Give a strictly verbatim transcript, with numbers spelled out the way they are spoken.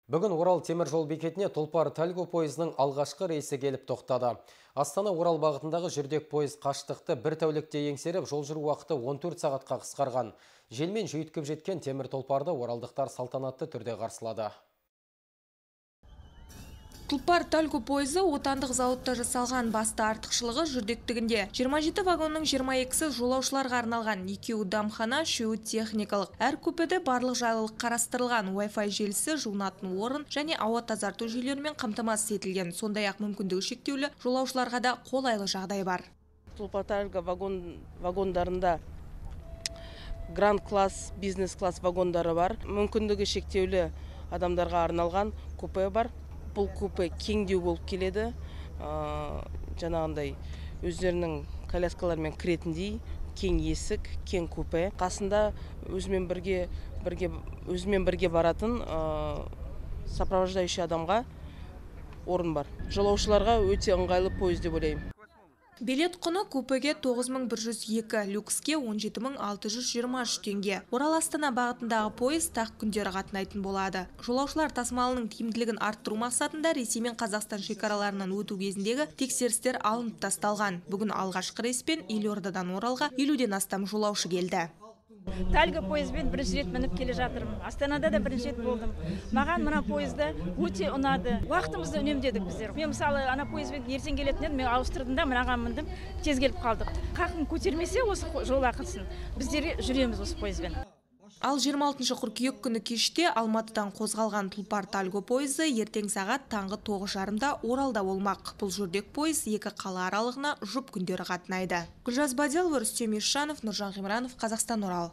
Бүгін Орал темір жол бекетіне Тұлпар-Тальго пойызының алғашқы рейсі келіп тоқтады. Астана-Орал бағытындағы жүрдек пойыз қашықтықты бір тәулікте еңсеріп, жол жүру уақыты он төрт сағатқа қысқарған. Желмен жүйткіп жеткен темір тұлпарды оралдықтар салтанатты түрде қарсылады. Тұлпар-Тальго пойызы отандық зауытта жасалған, басты артықшылығы жүрдектігінде. жиырма жеті вагонның жиырма екісі жолаушыларға арналған, екеуі дамхана, үшеуі техникалық. Әр купеде барлық жайлылық қарастырылған, Wi-Fi желісі, жуынатын орын және ауа тазарту жүйелерімен қамтамасыз етілген. Сондай-ақ мүмкіндігі шектеулі жолаушыларға да қолайлы жағдай бар. Тұлпар-Тальго вагон, вагондарында гранд класс, бизнес класс вагондары бар. Мүмкіндігі шектеулі адамдарға арналған купе бар. Бұл купе кеңдеу болып келеді. Жаңағындай өздерінің коляскалармен кіретіндей кең есік, кең купе. Қасында өзімен бірге, бірге, өзімен бірге баратын сопровождающий адамға орын бар. Жолаушыларға өте ыңғайлы пойыз деп ойлаймын. Билет құны купеге тоғыз мың бір жүз екі, люкске он жеті мың алты жүз жиырма үш теңге. Орал Астана бағытындағы пойыз тақ күндері қатынайтын болады. Жолаушылар тасымалының тиімділігін арттыру мақсатында Ресей мен Қазақстан шекараларынан өту кезіндегі тексерістер алынып тасталған. Бүгін алғашқы рейспен Елордадан Оралға елуден астам жолаушы келді. Тальго пойызбен бірінші рет мініп келе жатырмын. Астанада да бірінші рет болдым. Маған мына пойызда өте ұнады. Уақытымызды үнемдедік біздер. Мен мысалы ана пойызбен ертең келетін едім, мен ауыстырдым да мынаған міндім, тез келіп қалдық. Қақын көтермесе осы жол ақысын. Біздер жүреміз осы пойызбен. Ал жиырма алтыншы қыркүйек күні кеште Алматыдан қозғалған Тұлпар-Тальго пойызы ертең сағат таңғы тоғыз жарымда Оралда болмақ. Бұл жүрдек пойыз екі қала аралығына жұп күндері қатынайды. Гүлжаз Бадиялова, Рүстем Ишанов, Нұржан Ғимранов, Қазақстан, Орал.